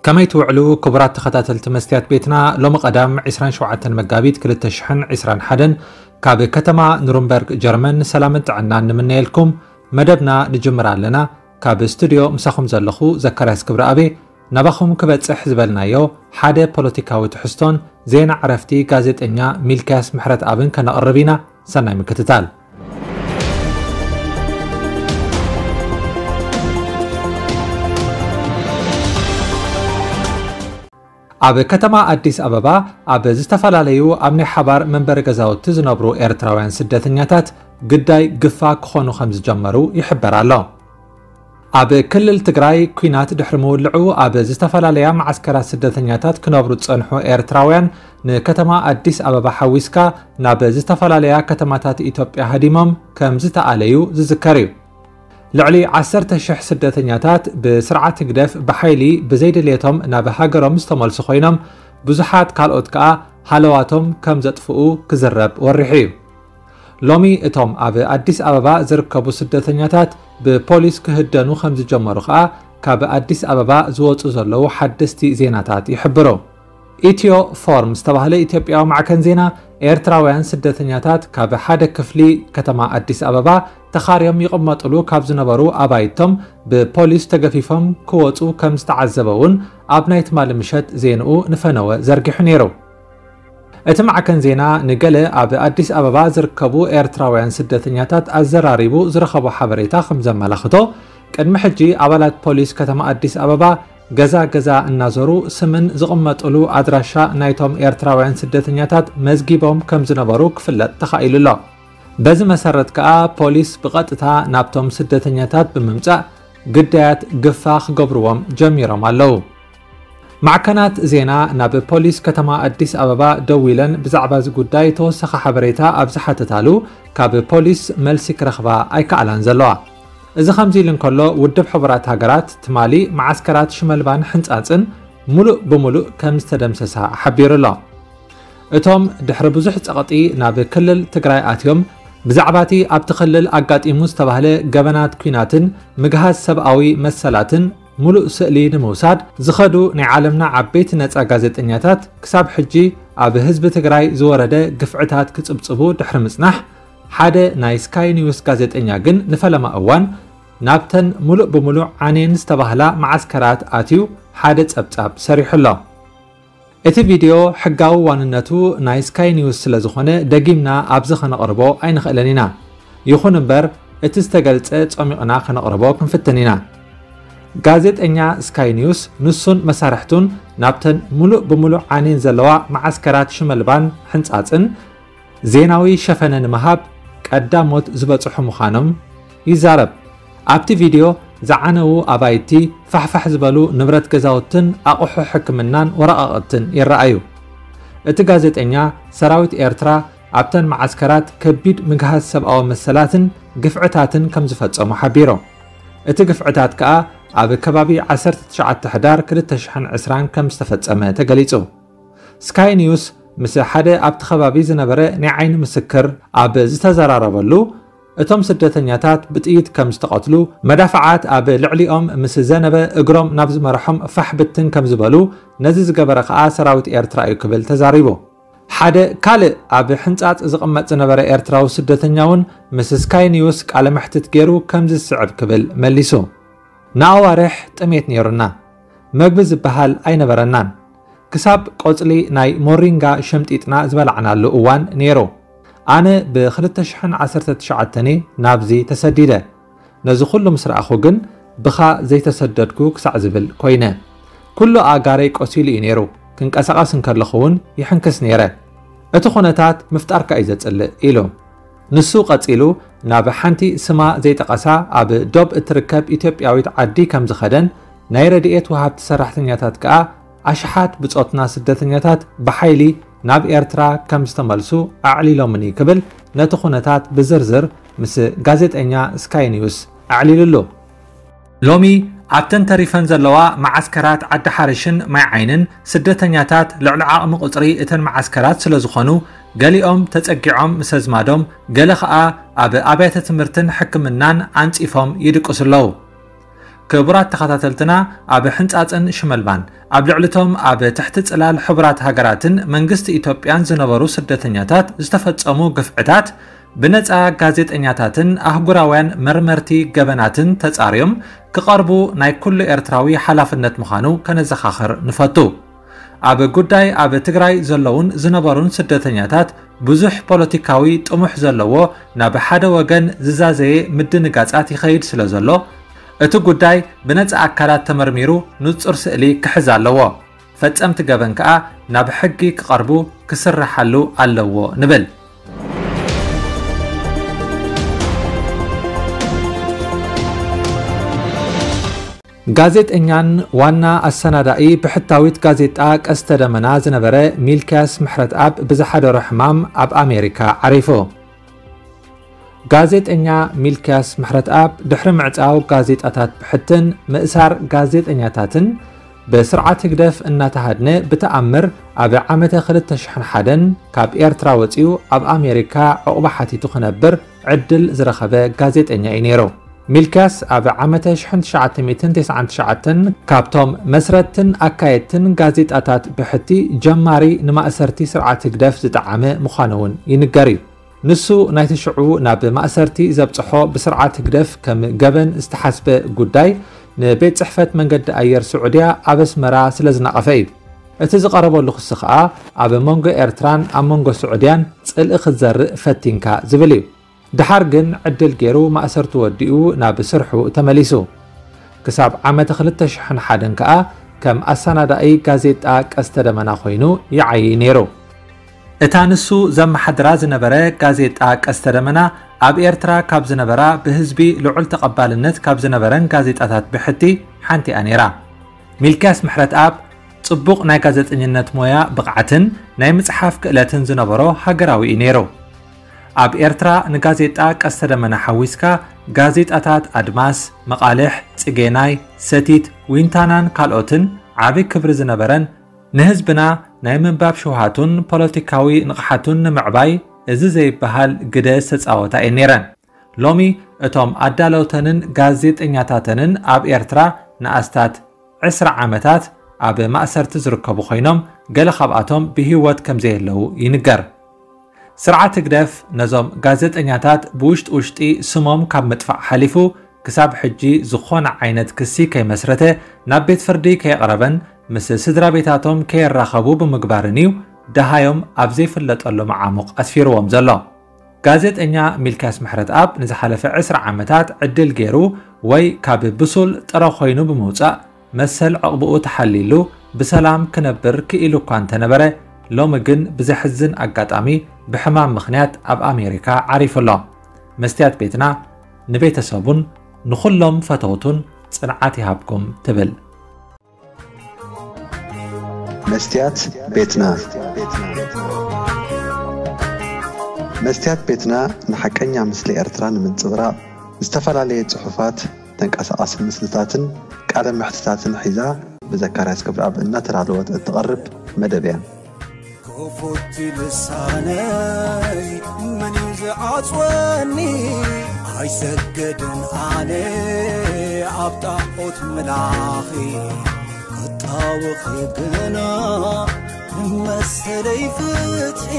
ከመይ ትውዕሉ ክቡራት ተኸታተልቲ መስትያት ቤትና? ሎሚ ቀዳም ዕስራን ሸውዓተን መጋቢት ክልተ ሽሕን ዕስራን ሓደን ካብ ከተማ ኑርንበርግ ጀርመን ሰላምን ጥዕናን ንምነየልኩም። መደብና ንጅምር ኣለና። ካብ ስቱድዮ ምሳኹም ዘለኹ ዘካርያስ ክብረኣቤ። ናባኹም ክበጽሕ ዝበልናዮ ሓደ ፖለቲካዊ ትሕዝቶን ዜና ዕረፍቲ ጋዜጠኛ ሚልክያስ ምሕረትኣብን ከነቕርብ ኢና። ሰናይ ምክትታል። ኣብ ከተማ ኣዲስ ኣበባ ኣብ ዝተፈላለዩ ኣብ ናይ ሓባር መንበሪ ገዛውቲ ዝነብሩ ኤርትራውያን ስደተኛታት ግዳይ ግፋ ክኾኑ ከም ዝጀመሩ ይሕበር ኣሎ። ኣብ ክልል ትግራይ ኲናት ድሕሪ ምውልዑ ኣብ ዝተፈላለያ መዓስከራት ስደተኛታት ክነብሩ ዝጸንሑ ኤርትራውያን ንከተማ ኣዲስ ኣበባ ሓዊስካ ናብ ዝተፈላለያ ከተማታት ኢትዮጵያ ሃዲሞም ከም ዝተኣለዩ ዝዝከር እዩ። ልዕሊ ዓሰርተ ሽሕ ስደተኛታት ብስርዓት ህግደፍ ብሓይሊ ብዘይድልየቶም ናብ ሃገሮም ዝተመልሱ ኮይኖም፣ ብዙሓት ካልኦት ከኣ ሃለዋቶም ከም ዘጥፍኡ ክዝረብ ወሪሑ እዩ። ሎሚ እቶም ኣብ ኣዲስ ኣበባ ዝርከቡ ስደተኛታት ብፖሊስ ክህደኑ ከም ዝጀመሩ ከኣ ካብ ኣዲስ ኣበባ ዝወጹ ዘለዉ ሓደስቲ ዜናታት ይሕብሩ። ኢትዮ ፎርም ዝተባህለ ኢትዮጵያዊ ማዕከን ዜና፣ ኤርትራውያን ስደተኛታት ካብ ሓደ ክፍሊ ከተማ ኣዲስ ኣበባ ተኻርዮም ይቕመጥሉ ካብ ዝነበሩ ኣባይቶም ብፖሊስ ተገፊፎም ክወጹ ከም ዝተዓዘበ እውን ኣብ ናይ ትማሊ ምሸት ዜንኡ ንፈነወ ዘርጊሑ ነይሩ። እቲ ማዕከን ዜና ንገለ ኣብ ኣዲስ ኣበባ ዝርከቡ ኤርትራውያን ስደተኛታት ኣዘራሪቡ ዝረኸቦ ሓበሬታ ከም ዘመላኽቶ፣ ቅድሚ ሕጂ ኣባላት ፖሊስ ከተማ ኣዲስ ኣበባ ገዛ ገዛ እናዞሩ ስምን ዝቕመጥሉ ኣድራሻ ናይቶም ኤርትራውያን ስደተኛታት መዝጊቦም ከም ዝነበሩ ክፍለጥ ተኻኢሉ ኣሎ። በዚ መሰረት ከኣ ፖሊስ ብቐጥታ ናብቶም ስደተኛታት ብምምጻእ ግዳያት ግፋ ክገብርዎም ጀሚሮም ኣለዉ። ማዕከናት ዜና ናብ ፖሊስ ከተማ ኣዲስ ኣበባ ደዊለን ብዛዕባ እዚ ጉዳይ ተወሳኺ ሓበሬታ ኣብ ዝሓተታሉ፣ ካብ ፖሊስ መልሲ ክረኽባ ኣይከኣላን ዘለዋ። እዚ ከምዚ ኢሉ እንከሎ፣ ውድብ ሕቡራት ሃገራት ትማሊ መዓስከራት ሽመልባን ሕንጻጽን ሙሉእ ብሙሉእ ከም ዝተደምሰሳ ሓቢሩ ኣሎ። እቶም ድሕሪ ብዙሕ ጸቕጢ ናብ ክልል ትግራይ ኣትዮም፣ ብዛዕባ እቲ ኣብቲ ክልል ኣጋጢሙ ዝተባህለ ገበናት ኲናትን ምግሃስ ሰብኣዊ መሰላትን ሙሉእ ስእሊ ንምውሳድ ዝኸዱ ናይ ዓለምና ዓበይቲ ነጻ ጋዜጠኛታት፣ ክሳብ ሕጂ ኣብ ህዝቢ ትግራይ ዝወረደ ግፍዕታት ክጽብጽቡ ድሕሪ ምጽናሕ፣ ሓደ ናይ ስካይ ኒውስ ጋዜጠኛ ግን ንፈለማ እዋን ናብተን ሙሉእ ብሙሉእ ዓንየን ዝተባህላ መዓስከራት ኣትዩ ሓደ ጸብጻብ ሰሪሑ ኣሎ። እቲ ቪድዮ ሕጋዊ ዋንነቱ ናይ ስካይ ኒውስ ስለ ዝኾነ፣ ደጊምና ኣብዚ ከነቕርቦ ኣይንኽእልን ኢና። ይኹን እምበር፣ እቲ ዝተገልጸ ጸሚቕና ከነቕርቦ ክንፍትን ኢና። ጋዜጠኛ ስካይ ኒውስ ንሱን መሳርሕቱን ናብተን ሙሉእ ብሙሉእ ዓንየን ዘለዋ መዓስከራት ሽመልባን ሕንጻጽን ዜናዊ ሸፈነ ንምሃብ ቀዳሞት ዝበጽሑ ምዃኖም ይዛረብ። ኣብቲ ቪድዮ ዝዓነዉ ኣባይቲ፣ ፋሕፋሕ ዝበሉ ንብረት ገዛውትን ኣቑሑ ሕክምናን ወረቓቕትን ይረኣዩ። እቲ ጋዜጠኛ፣ ሰራዊት ኤርትራ ኣብተን መዓስከራት ከቢድ ምግሃስ ሰብኣዊ መሰላትን ግፍዕታትን ከም ዝፈጸሙ ሓቢሩ። እቲ ግፍዕታት ከኣ ኣብ ከባቢ ዓሰርተ ትሽዓተ ሕዳር ክልተ ሽሕን ዕስራን ከም ዝተፈጸመ ተገሊጹ። ስካይ ኒውስ ምስ ሓደ ኣብቲ ከባቢ ዝነበረ ናይ ዓይኒ ምስክር ኣብ ዝተዘራረበሉ፣ እቶም ስደተኛታት ብጥይት ከም ዝተቐትሉ፣ መዳፍዓት ኣብ ልዕሊኦም ምስ ዘነበ እግሮም ናብ ዝመርሖም ፋሕ ብትን ከም ዝበሉ፣ ነዚ ዝገበረ ከኣ ሰራዊት ኤርትራ እዩ ክብል ተዛሪቡ። ሓደ ካልእ ኣብ ሕንጻጽ ዝቕመጥ ዝነበረ ኤርትራዊ ስደተኛ እውን ምስ ስካይ ኒውስ ቃለ መሕትት ገይሩ ከምዚ ዝስዕብ ክብል መሊሱ። ንኣዋርሕ ጥሜት ነይሩና። መግቢ ዝበሃል ኣይነበረናን። ክሳብ ቆጽሊ ናይ ሞሪንጋ ሸምጢጥና ዝበላዕናሉ እዋን ነይሩ። ኣነ ብ ክልተ ሽሕን ዓሰርተ ትሽዓተን እየ ናብዚ ተሰዲደ። ነዚ ኩሉ ምስ ረኣኹ ግን ብኻ ዘይተሰደድኩ ክሳዕ ዝብል ኮይነ። ኩሉ ኣእጋረይ ቆሲሉ እዩ ነይሩ። ክንቀሳቐስ እንከለኹ እውን ይሕንክስ ነይረ። እቲ ኩነታት ምፍጣርካ እዩ ዘጽልእ ኢሉ። ንሱ ቀጺሉ ናብ ሓንቲ ስማ ዘይጠቐሳ ኣብ ዶብ እትርከብ ኢትዮጵያዊት ዓዲ ከም ዝኸደን ናይ ረድኤት ወሃብቲ ሰራሕተኛታት ከኣ ኣሽሓት ብጾትና ስደተኛታት ብሓይሊ ናብ ኤርትራ ከም ዝተመልሱ ኣዕሊሎምኒ ክብል ነቲ ኩነታት ብዝርዝር ምስ ጋዜጠኛ ስካይ ኒውስ ኣዕሊሉሉ። ሎሚ ኣብተን ተሪፈን ዘለዋ መዓስከራት ዓዲ ሓርሽን ማይ ዓይንን ስደተኛታት ልዕሊ ዓቕሚ ቁጽሪ እተን መዓስከራት ስለ ዝኾኑ፣ ገሊኦም ተጸጊዖም ምስ ኣዝማዶም፣ ገለ ኸኣ ኣብ ኣብያተ ትምህርትን ሕክምናን ኣንጺፎም ይድቅሱ ኣለዉ። ክቡራት ተኸታተልትና፣ ኣብ ሕንጻጽን ሽመልባን ኣብ ልዕሊቶም ኣብ ትሕቲ ጽላል ሕቡራት ሃገራትን መንግስቲ ኢትዮጵያን ዝነበሩ ስደተኛታት ዝተፈጸሙ ግፍዕታት ብነጻ ጋዜጠኛታትን ኣህጉራውያን መርመርቲ ገበናትን ተጻርዮም ክቐርቡ ናይ ኩሉ ኤርትራዊ ሓላፍነት ምዃኑ ከነዘኻኽር ንፈቱ። ኣብ ጉዳይ ኣብ ትግራይ ዘለውን ዝነበሩን ስደተኛታት ብዙሕ ፖለቲካዊ ጥሙሕ ዘለዎ ናብ ሓደ ወገን ዝዛዘየ ምድንጋጻት ይኸይድ ስለ ዘሎ፣ እቲ ጉዳይ ብነጻ ኣካላት ተመርሚሩ ንጹር ስእሊ ክሕዝ ኣለዎ። ፈጸምቲ ገበን ከኣ ናብ ሕጊ ክቐርቡ ክስርሓሉ ኣለዎ ንብል። ጋዜጠኛን ዋና ኣሰናዳኢ ብሕታዊት ጋዜጣ ቀስተ ደመና ዝነበረ ሚልክያስ ምሕረትኣብ ብዝሓደሮ ሕማም ኣብ ኣሜሪካ ዓሪፉ። ጋዜጠኛ ሚልክያስ ምሕረትኣብ ድሕሪ ምዕጻው ጋዜጣታት ብሕትን ምእሳር ጋዜጠኛታትን ብስርዓት ህግደፍ እናተሃድነ ብተኣምር ኣብ ዓመተ ክልተ ሽሕን ሓደን ካብ ኤርትራ ወጺኡ ኣብ ኣሜሪካ ዕቑባ ሓቲቱ ክነብር ዕድል ዝረኸበ ጋዜጠኛ እዩ ነይሩ። ሚልክያስ ኣብ ዓመተ ሽሕን ትሽዓተ ሚእትን ተስዓን ትሽዓተን ካብቶም መስረትን ኣካየድትን ጋዜጣታት ብሕቲ ጀማሪ ንማእሰርቲ ስርዓት ህግደፍ ዝጠዓመ ምዃኑ እውን ይንገር እዩ። ንሱ ናይቲ ሽዑ ናብ ማእሰርቲ ዘብጽሖ ብስርዓት ህግደፍ ከም ገበን ዝተሓስበ ጉዳይ ንቤት ጽሕፈት መንገዲ ኣየር ስዑድያ ኣብ ኣስመራ ስለ ዝነቐፈ እዩ። እቲ ዝቐረበሉ ክሲ ከኣ ኣብ መንጎ ኤርትራን ኣብ መንጎ ስዑድያን ጽልኢ ክትዘርእ ፈቲንካ ዝብል እዩ። ድሓር ግን ዕድል ገይሩ ማእሰርቱ ወዲኡ ናብ ስርሑ ተመሊሱ። ክሳብ ዓመተ ክልተ ሽሕን ሓደን ከኣ ከም ኣሰናዳኢ ጋዜጣ ቀስተ ደመና ኮይኑ ይዓዪ ነይሩ። እታ ንሱ ዘመሓድራ ዝነበረ ጋዜጣ ቀስተ ደመና ኣብ ኤርትራ ካብ ዝነበራ ብህዝቢ ልዑል ተቐባልነት ካብ ዝነበረን ጋዜጣታት ብሕቲ ሓንቲ እያ ነይራ። ሚልክያስ ምሕረትኣብ ጽቡቕ ናይ ጋዜጠኝነት ሞያ ብቕዓትን ናይ ምጽሓፍ ክእለትን ዝነበሮ ሃገራዊ እዩ ነይሩ። ኣብ ኤርትራ ንጋዜጣ ቀስተ ደመና ሓዊስካ ጋዜጣታት ኣድማስ፣ መቓልሕ፣ ጽጌናይ፣ ሰቲት፣ ዊንታናን ካልኦትን ዓቢ ክብሪ ዝነበረን ንህዝብና ናይ ምንባብ ሽውሃቱን ፖለቲካዊ ንቕሓቱን ንምዕባይ እዚ ዘይበሃል ግደ ዝተጻወታ እየን ነይረን። ሎሚ እቶም ኣዳለውተንን ጋዜጠኛታተንን ኣብ ኤርትራ ንኣስታት ዕስራ ዓመታት ኣብ ማእሰርቲ ዝርከቡ ኮይኖም፣ ገለ ካብኣቶም ብህይወት ከም ዘየለዉ ይንገር። ስርዓት ህግደፍ ነዞም ጋዜጠኛታት ብውሽጢ ውሽጢ ስሞም ካብ ምጥፋእ ሓሊፉ፣ ክሳብ ሕጂ ዝኾነ ዓይነት ክሲ ከይመስረተ፣ ናብ ቤት ፍርዲ ከየቕረበን ምስ ስድራ ቤታቶም ከየራኸቡ ብምግባርን እዩ ደሃዮም ኣብ ዘይፍለጠሉ መዓሙቕ ኣስፊርዎም ዘሎ። ጋዜጠኛ ሚልክያስ ምሕረትኣብ ንዝሓለፈ ዕስራ ዓመታት ዕድል ገይሩ ወይ ካብ ብሱል ጥረ ኮይኑ ብምውጻእ መሰል ዕቕብኡ ተሓልይሉ ብሰላም ክነብር ክኢሉ እኳ እንተነበረ፣ ሎሚ ግን ብዘሕዝን ኣጋጣሚ ብሕማም ምኽንያት ኣብ ኣሜሪካ ዓሪፉ ኣሎ። መስትያት ቤትና ንቤተሰቡን ንኹሎም ፈተውቱን ጽንዓት ይሃብኩም ትብል። መስትያት ቤትና። መስትያት ቤትና ንሓቀኛ ምስሊ ኤርትራ ንምንጽብራቕ ዝተፈላለየ ጽሑፋት፣ ተንቀሳቓሲ ምስልታትን ቃለ መሕትታትን ሒዛ ብዘካርያስ ገብረኣብ እናተዳለወት እትቐርብ መደብ እያ። ክፉት ልሳነይ መን እዩ ዝዓጽወኒ? ኣይሰግድን ኣነ ኣብ ጣዖት ምላኺ፣ ክጣወኺ ግና መሰለይ ፍትሒ።